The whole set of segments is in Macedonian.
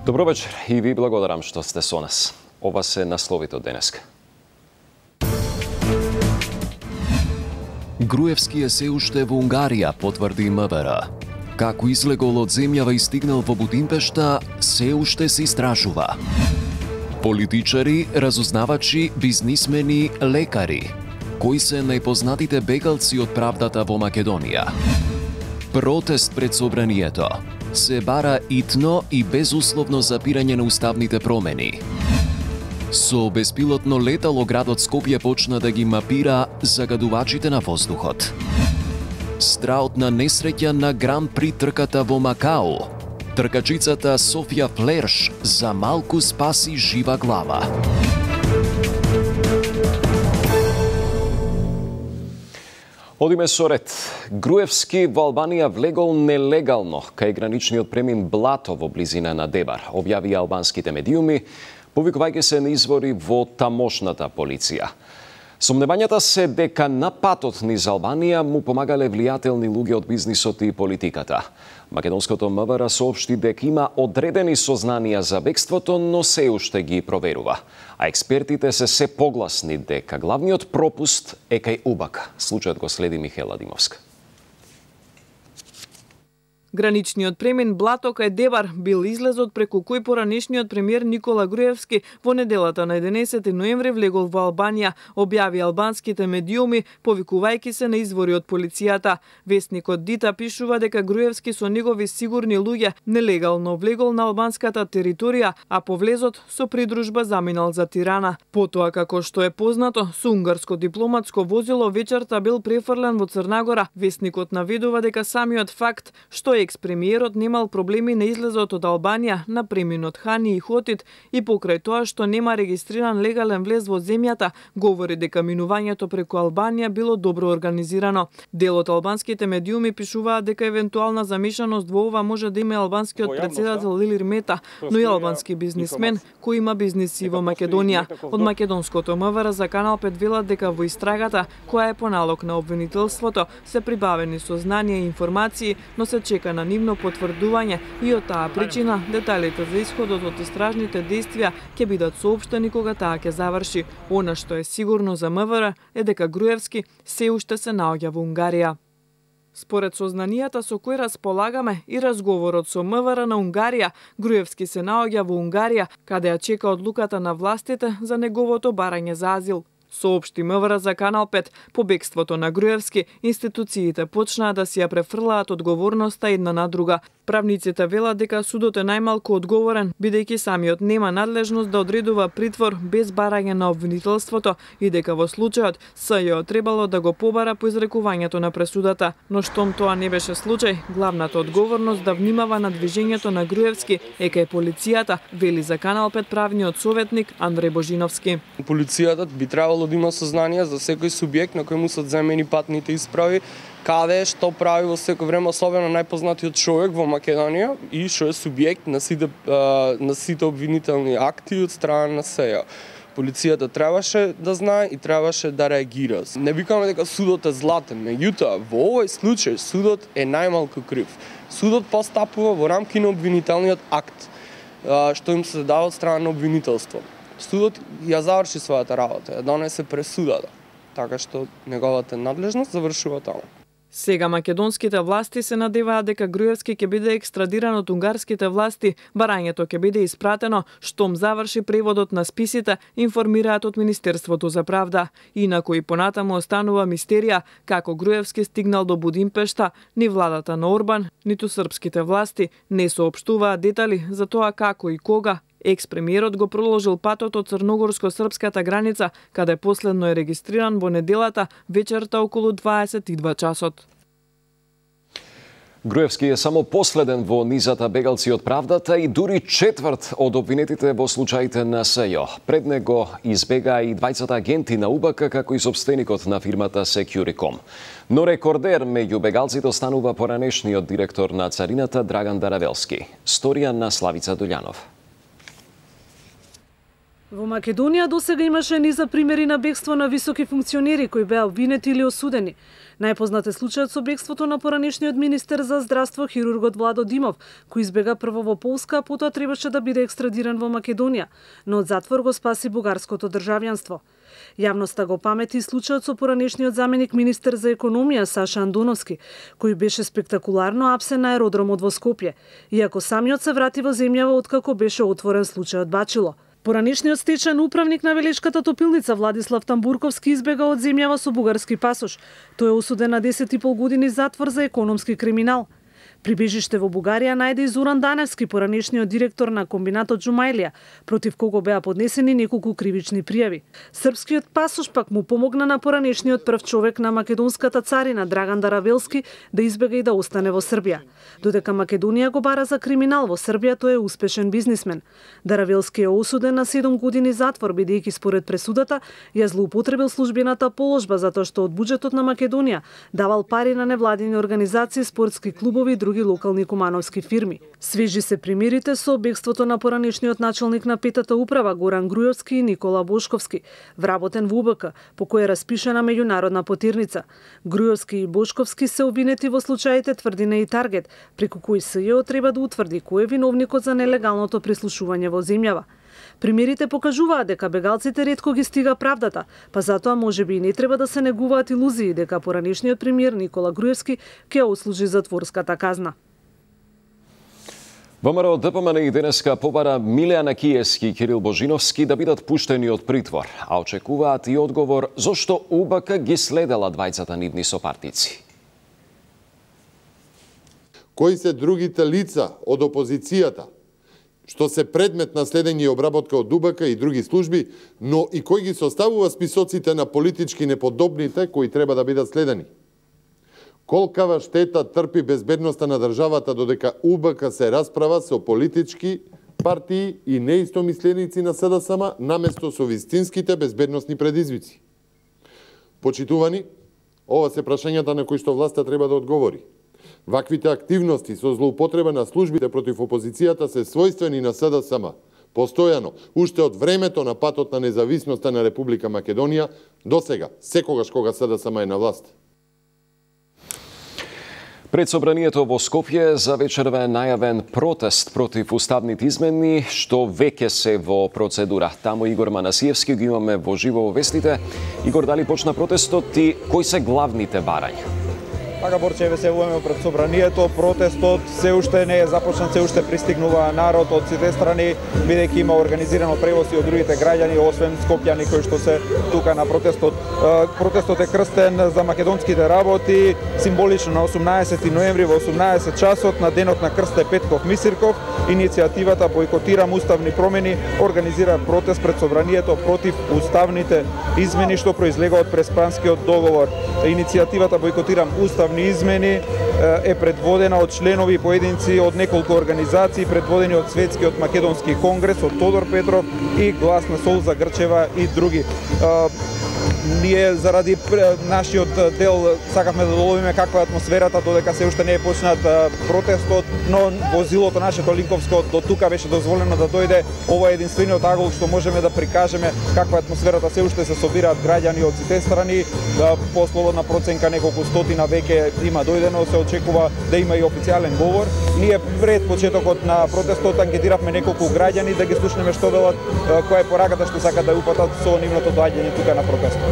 Добро вечер и ви благодарам што сте со нас. Ова се насловите од денеска. Груевски е се уште во Унгарија, потврди МВР. Како излегол од земјава и стигнал во Будимпешта, се уште се истражува. Политичари, разузнавачи, бизнисмени, лекари. Кои се најпознатите бегалци од правдата во Македонија? Протест пред собранието. Се бара итно и безусловно запирање на уставните промени. Со беспилотно летало градот Скопје почна да ги мапира загадувачите на воздухот. Страутна несреќа на Гран При трката во Макао. Тркачицата Софија Флерш за малку спаси жива глава. Одиме со ред. Груевски во Албанија влегол нелегално кај граничниот премин Блато во близина на Дебар, објави албанските медиуми, повикувајќи се на извори во тамошната полиција. Сомневањата се дека на патот низ Албанија му помагале влијателни луѓе од бизнисот и политиката. Македонското МВР соопшти дека има одредени сознанија за бегството, но се уште ги проверува. А експертите се погласни дека главниот пропуст е кај УБАК. Случајот го следи Михела Димовска. Граничниот премин Блато кај Дебар бил излезот преку кој поранешниот премиер Никола Груевски во неделата на 11 ноември влегол во Албанија, објави албанските медиуми, повикувајќи се на извори од полицијата. Весникот Дита пишува дека Груевски со негови сигурни луѓе нелегално влегол на албанската територија, а по влезот со придружба заминал за Тирана. Потоа, како што е познато, со унгарско дипломатско возило вечерта бил префрлен во Црнагора. Весникот наведува дека самиот факт што екс-премиерот немал проблеми на излезот од Албанија на преминот Хани и Хотид и покрај тоа што нема регистриран легален влез во земјата, говори дека минувањето преку Албанија било добро организирано. Дел од албанските медиуми пишуваат дека евентуална замешаност во ова може да има албанскиот претседател Илир Мета, но и албански бизнисмен кој има бизниси во Македонија. Од македонското МВР за Канал 5 велат дека во истрагата, која е по налог на обвинителството, се прибавени сознанија и информации, но се чека на нивно потврдување и од таа причина деталите за исходот од истражните действија ќе бидат соопштени кога таа ќе заврши. Она што е сигурно за МВР е дека Груевски се уште се наоѓа во Унгарија. Според сознанијата со кои располагаме и разговорот со МВР на Унгарија, Груевски се наоѓа во Унгарија, каде ја чека одлуката на властите за неговото барање за азил. Соопшти МВР за Канал 5, по бегството на Груевски, институциите почнаа да си ја префрлаат одговорноста една на друга. Правниците велат дека судот е најмалку одговорен, бидејќи самиот нема надлежност да одредува притвор без барање на обвинителството и дека во случајот СЈО требало да го побара по изрекувањето на пресудата. Но штом тоа не беше случај, главната одговорност да внимава на движењето на Груевски е кај полицијата, вели за Канал 5 правниот советник Андреј Божиновски. Полицијата би требало да има сознание за секој субјект на кој му се одземени патните исправи, каде, што прави во секој време, особено најпознатиот човек во Македонија и што е субјект на сите обвинителни акти од страна на СЈО. Полицијата требаше да знае и требаше да реагира. Не викаме дека судот е златен, меѓутоа во овој случај судот е најмалку крив. Судот постапува во рамки на обвинителниот акт, што им се дава од страна на обвинителство. Судот ја заврши својата работа, ја донесе пресудата, така што неговата надлежност завршува таму. Сега македонските власти се надеваат дека Груевски ќе биде екстрадиран од унгарските власти, барањето ќе биде испратено штом заврши преводот на списите, информираат од Министерството за правда. Инаку и понатаму останува мистерија како Груевски стигнал до Будимпешта, ни владата на Орбан, ниту српските власти не соопштуваат детали за тоа како и кога екс-премиерот го проложил патот од црногорско-српската граница, каде последно е регистриран во неделата вечерта околу 22 часот. Груевски е само последен во низата бегалци од правдата и дури четврт од обвинетите во случаите на СЈО. Пред него избегаа и двајцата агенти на УБК, како и собственикот на фирмата Securicom. Но рекордер меѓу бегалците останува поранешниот директор на царината Драган Даравелски. Сторија на Славица Долјанов. Во Македонија досега имаше низа примери на бегство на високи функционери кои беа обвинети или осудени. Најпознат е случајот со бегството на поранешниот министер за здравство хирургот Владо Димов, кој избега прво во Полска, а потоа требаше да биде екстрадиран во Македонија, но од затвор го спаси бугарското државјанство. Јавноста го памети случајот со поранешниот заменик министер за економија Саша Андоновски, кој беше спектакуларно апсен на аеродромот во Скопје, иако самиот се врати во земјава откако беше отворен случајот Бачило. Поранешниот стечен управник на Велешката топилница Владислав Тамбурковски избега од земјава со бугарски пасош. Тој е осуден на 10,5 години затвор за економски криминал. Прибежиште во Бугарија најде и Зоран Даневски, поранешниот директор на комбинатот Џумајлија, против кого беа поднесени неколку кривични пријави. Српскиот пасош пак му помогна на поранешниот прв човек на македонската царина Драган Даравелски да избега и да остане во Србија. Додека Македонија го бара за криминал, во Србија тој е успешен бизнисмен. Даравелски е осуден на 7 години затвор, бидејќи според пресудата ја злоупотребил службената положба затоа што од буџетот на Македонија давал пари на невладини организации, спортски клубови и други локални кумановски фирми. Свежи се примерите со бегството на поранешниот началник на петата управа Горан Груевски и Никола Бошковски, вработен во УБК, по кој е распишана меѓународна потирница. Груевски и Бошковски се обвинети во случаите Тврдина и Таргет, преку кои СЈО треба да утврди кој е виновникот за нелегалното прислушување во земјава. Примерите покажуваат дека бегалците ретко ги стига правдата, па затоа можеби и не треба да се негуваат илузии дека поранешниот премиер Никола Груевски ќе ослужи затворската казна. ВМРО ДПМН и денеска побара Милијана Киевски и Кирил Божиновски да бидат пуштени од притвор, а очекуваат и одговор зошто УБК ги следела двајцата нивни сопартици. Кои се другите лица од опозицијата што се предмет на следење и обработка од УБК и други служби, но и кој ги составува списоците на политички неподобните кои треба да бидат следени. Колкава штета трпи безбедноста на државата додека УБК се расправа со политички партии и неистомисленици на СДСМ наместо со вистинските безбедносни предизвици. Почитувани, ова се прашањата на кои што власта треба да одговори. Ваквите активности со злоупотреба на службите против опозицијата се својствени на СДСМ. Постојано, уште од времето на патот на независноста на Република Македонија, досега, секогаш кога СДСМ е на власт. Пред собранието во Скопје за вечерва е најавен протест против уставните измени, што веќе се во процедура. Таму Игор Манасиевски ги имаме во живо во вестите. Игор, дали почна протестот и кои се главните барања? Така, Борче, се војме пред собранието, протестот се уште не е започнат, се уште пристигнува народ од сите страни, бидејќи има организирано превоз и од другите граѓани, освен скопјани кои што се тука на протестот. Протестот е крстен за македонските работи, символично на 18 ноември во 18 часот на денот на Крсте Петков Мисирков. Иницијативата Бојкотирам уставни промени организира протест пред собранието против уставните измени што произлега од Преспанскиот договор. Иницијативата Бојкотирам уставни измени е предводена од членови и поединци од неколку организации, предводени од Светскиот македонски конгрес, од Тодор Петров и Глас на Солза Грчева и други. Ние заради нашиот дел сакавме да доловиме каква е атмосферата додека се уште не е почнат протестот, но возилото нашето линковско до тука беше дозволено да дојде. Ова е единствениот агол што можеме да прикажеме каква е атмосферата, се уште се собираат граѓани од сите страни. По слободна проценка неколку стотина веќе има дојдено, се очекува да има и официјален говор. Ние пред почетокот на протестот анкетиравме неколку граѓани да ги слушнеме што велат, која е пораката што сакаат да упатат со нивното доаѓање тука на протестот.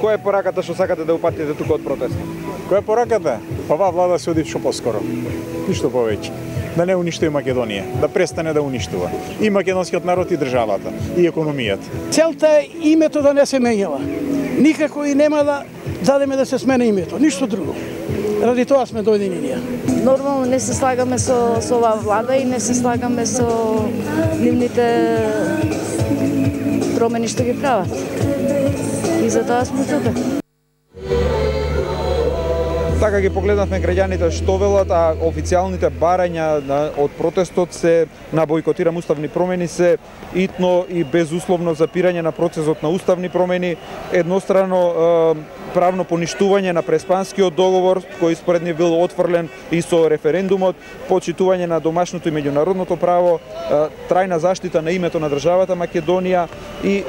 Која е пораката што сакате да упатите тука од протестот? Која е пораката? Па оваа влада се оди што поскоро. Ништо повеќе. Да не уништува Македонија, да престане да уништува и македонскиот народ и државата и економијата. Целта е името да не се менјава. Никако и нема да дадеме да се смени името, ништо друго. Ради тоа сме дојдени ние. Нормално не се слагаме со оваа влада и не се слагаме со нивните промени што ги прават. И затоа сме тука. Така ги погледнавме граѓаните што велат, а официјалните барања од протестот се на Бојкотирам уставни промени се итно и безусловно запирање на процесот на уставни промени, еднострано правно поништување на Преспанскиот договор, кој според нив бил отфрлен и со референдумот, почитување на домашното и меѓународното право, трајна заштита на името на државата Македонија и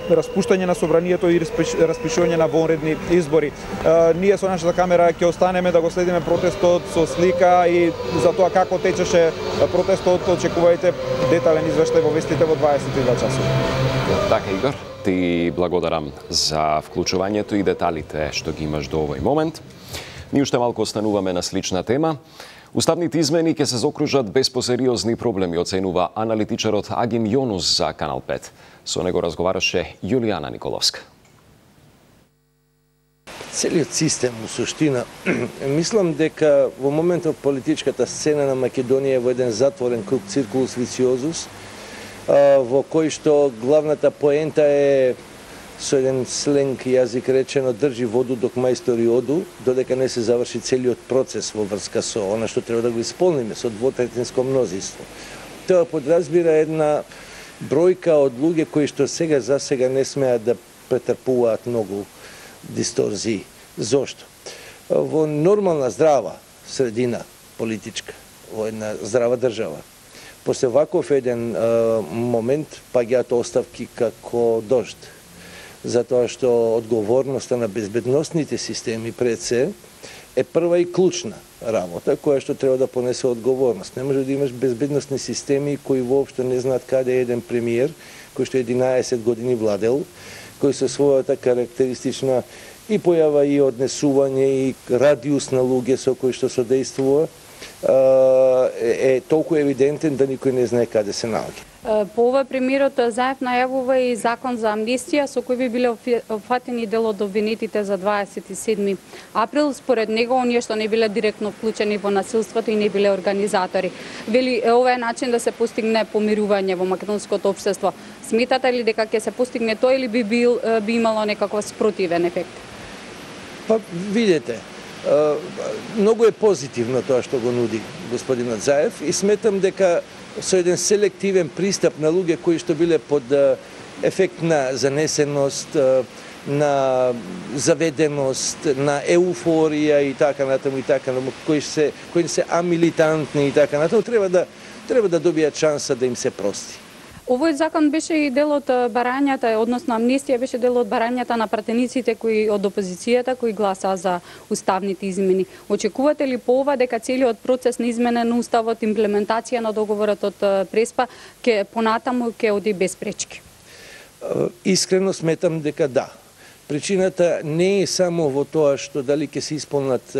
распуштање на собранието и распишување на вонредни избори. Ние со нашата камера ќе останеме да го следиме протестот со слика и за тоа како течеше протестот. Очекувајте детален извештај во вестите во 22 часот. Така, Игор, ти благодарам за вклучувањето и деталите што ги имаш до овој момент. Ние уште малку остануваме на слична тема. Уставните измени ќе се заокружат без посериозни проблеми, оценува аналитичарот Агим Јонус за Канал 5. Со него разговараше Јулијана Николовска. Целиот систем, у суштина, мислам дека во моментот политичката сцена на Македонија е во еден затворен круг, циркулус вициозус, во кој што главната поента е, со еден сленг јазик речено, држи воду док мајстори оду, додека не се заврши целиот процес во врска со она што треба да го исполниме, со двотретинско мнозинство. Тоа подразбира една бројка од луѓе кои што за сега не смеат да претрпуваат многу дисторзии. Зошто? Во нормална здрава средина политичка, во една здрава држава, после ваков еден момент паѓаат оставки како дожд. Затоа што одговорноста на безбедносните системи пред се е прва и клучна работа која што треба да понесе одговорност. Не може да имаш безбедносни системи кои воопшто не знаат каде е еден премиер кој што 11 години владел, кој со својата карактеристична и појава и однесување и радиус на луѓе со кои што содействува е толку евидентен да никој не знае каде се наоѓа. По ова премиерот Заев најавува и закон за амнистија со кој би биле опфатени дел од обвинетите за 27 април. Според него, оние што не биле директно вклучени во насилството и не биле организатори. Вели, ова е начин да се постигне помирување во македонското општество. Сметате ли дека ќе се постигне тоа или би имало некаков спротивен ефект? Па, видете, многу е позитивно тоа што го нуди господинот Заев и сметам дека со еден селективен пристап на луѓе кои што биле под ефект на занесеност, на заведеност, на еуфорија и така натаму кои се амилитантни и така натаму, треба да добијат шанса да им се прости. Овој закон беше и дел од барањата, односно амнистија беше дел од барањата на пратениците кои од опозицијата кои гласаа за уставните измени. Очекувате ли по ова дека целиот процес на измена на уставот, имплементација на договорот од Преспа понатаму ќе оди без пречки? Искрено сметам дека да. Причината не е само во тоа што дали ќе се исполнат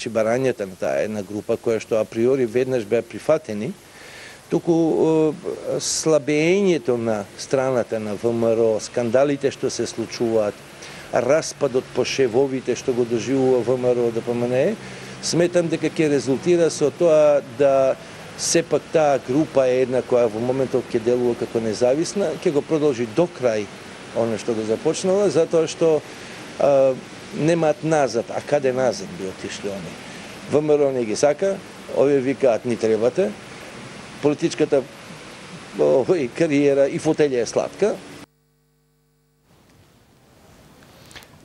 барањата на таа една група која што априори веднаш беа прифатени, туку слабењето на страната на ВМРО, скандалите што се случуваат, распадот по шевовите што го доживува ВМРО ДПМНЕ, сметам дека ќе резултира со тоа да сепак таа група е една која во моментот ќе делува како независна, ќе го продолжи до крај она што го започнала, затоа што немаат назад. А каде назад би отишли они? ВМРО не ги сака, овие викаат ни требате, политичката кариера и фотелја е сладка.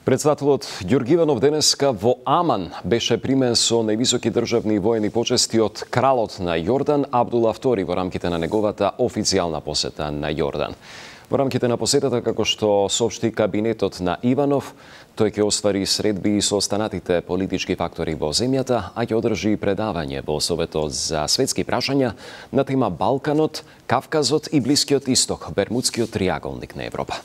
Председателот Ѓорги Иванов денеска во Аман беше примен со највисоки државни и воени почести од кралот на Јордан Абдула II во рамките на неговата официјална посета на Јордан. Во рамките на посетата, како што соопшти кабинетот на Иванов, тој ќе оствари средби со останатите политички фактори во земјата, а ќе одржи предавање во Советот за светски прашања на тема Балканот, Кавказот и Блискиот Исток, Бермудскиот триаголник на Европа.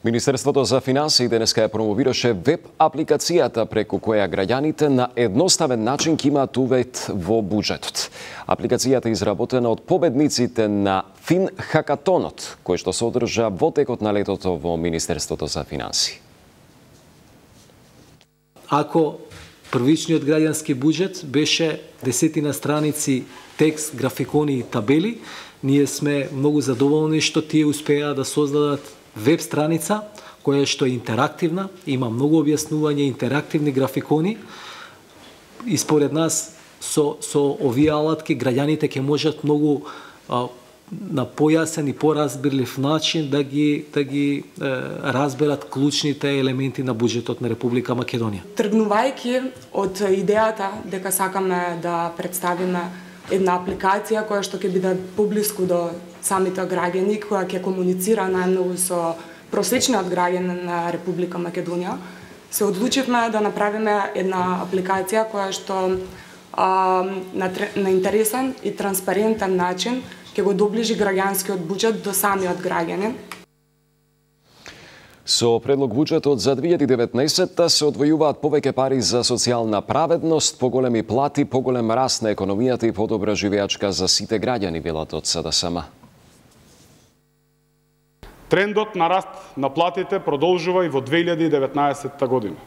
Министерството за финансии денеска ја промовираше веб апликацијата преку која граѓаните на едноставен начин ќе имаат увид во буџетот. Апликацијата е изработена од победниците на Фин Хакатонот, кој што се одржа во текот на летото во Министерството за финансии. Ако првичниот граѓански буџет беше 10 страници текст, графикони и табели, ние сме многу задоволни што тие успеа да создадат веб страница која што е интерактивна, има многу објаснување, интерактивни графикони и според нас со овие алатки граѓаните ќе можат многу на појасен и поразбирлив начин да ги разберат клучните елементи на буџетот на Република Македонија. Тргнувајќи од идејата дека сакаме да представиме една апликација која што ќе биде поблиску до самите граѓани, која ќе комуницира најмногу со просечниот граѓанин на Република Македонија, се одлучивме да направиме една апликација која што на интересен и транспарентен начин ќе го доближи граѓанскиот буџет до самиот граѓанин. Со предлог буџетот за 2019 се одвојуваат повеќе пари за социјална праведност, поголеми плати, поголем раст на економијата и подобра живеачка за сите граѓани, велат од СДСМ. Трендот на раст на платите продолжува и во 2019 година.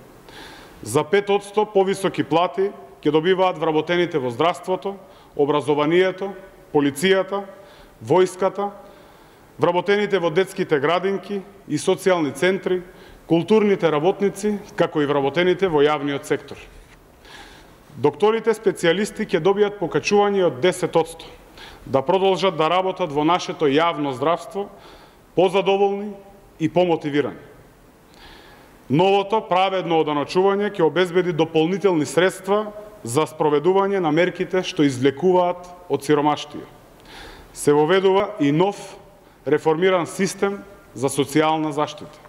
За 5% повисоки плати ќе добиваат вработените во здравството, образованието, полицијата, војската, вработените во детските градинки и социјални центри, културните работници, како и вработените во јавниот сектор. Докторите специјалисти ќе добијат покачување од 10%, да продолжат да работат во нашето јавно здравство, позадоволни и помотивирани. Новото праведно оданочување ќе обезбеди дополнителни средства за спроведување на мерките што извлекуваат од сиромаштија. Се воведува и нов реформиран систем за социјална заштита.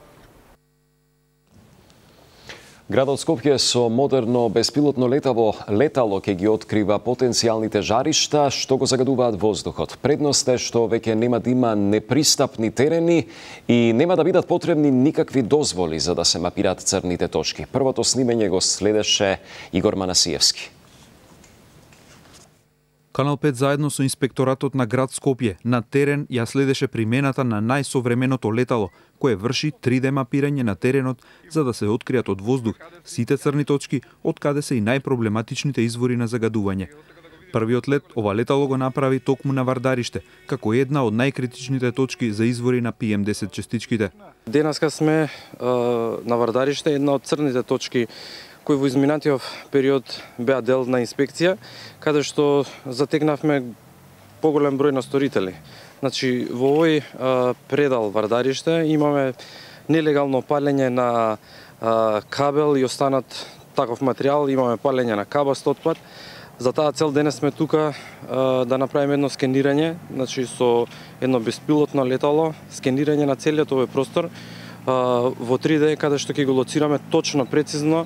Градот Скопје со модерно беспилотно летало ќе ги открива потенцијалните жаришта што го загадуваат воздухот. Предност е што веќе нема да има непристапни терени и нема да бидат потребни никакви дозволи за да се мапираат црните точки. Првото снимање го следеше Игор Манасиевски. Канал 5 заедно со инспекторатот на град Скопје на терен ја следеше примената на најсовременото летало, кое врши 3D мапирање на теренот за да се откријат од воздух сите црни точки, од каде се и најпроблематичните извори на загадување. Првиот лет ова летало го направи токму на Вардариште, како една од најкритичните точки за извори на PM10 частичките. Денеска сме на Вардариште, една од црните точки кои во изминатиот период беа дел на инспекција, каде што затекнавме поголем број на сторители. Значи, во овој предал Вардариште имаме нелегално палење на кабел и останат таков материјал, имаме палење на кабаст отпад. За таа цел денес сме тука да направиме едно скенирање, значи со едно беспилотно летало, скенирање на целиот овој простор, во 3D, каде што ќе го лоцираме точно, прецизно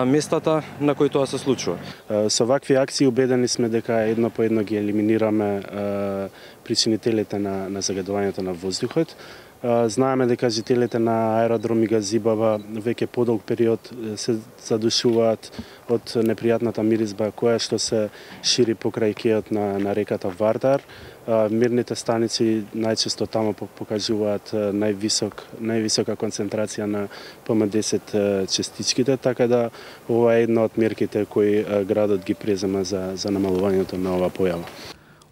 местата на кои тоа се случува. Со вакви акции убедени сме дека едно по едно ги елиминираме причинителите на загадувањето на воздухот. Знаеме дека жителите на аеродроми Газибава веќе подолг период се задушуваат од непријатната миризба која што се шири покрај кејот на реката Вардар. Мирните станици најчесто тамо покажуваат највисока концентрација на PM10 частичките, така да ова е една од мерките кои градот ги презема за намалувањето на оваа појава.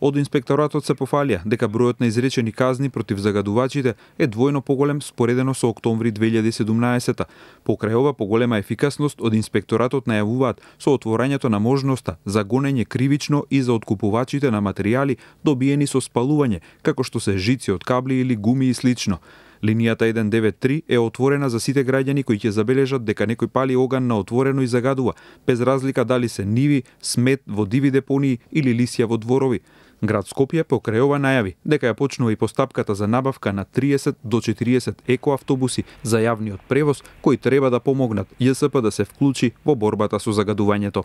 Од инспекторатот се пофалија дека бројот на изречени казни против загадувачите е двојно поголем споредено со октомври 2017. Покрај ова поголема ефикасност од инспекторатот најавуваат со отворањето на можноста за гонење кривично и за откупувачите на материјали добиени со спалување, како што се жици од кабли или гуми и слично. Линијата 193 е отворена за сите граѓани кои ќе забележат дека некој пали оган на отворено и загадува, без разлика дали се ниви, смет во диви депонии или лисја во дворови. Град Скопје покрај ова најави дека ја почнува и постапката за набавка на 30 до 40 екоавтобуси за јавниот превоз кои треба да помогнат ЈСП да се вклучи во борбата со загадувањето.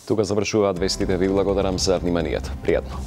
Тука завршуваат вестите. Ви благодарам за вниманието. Пријатно.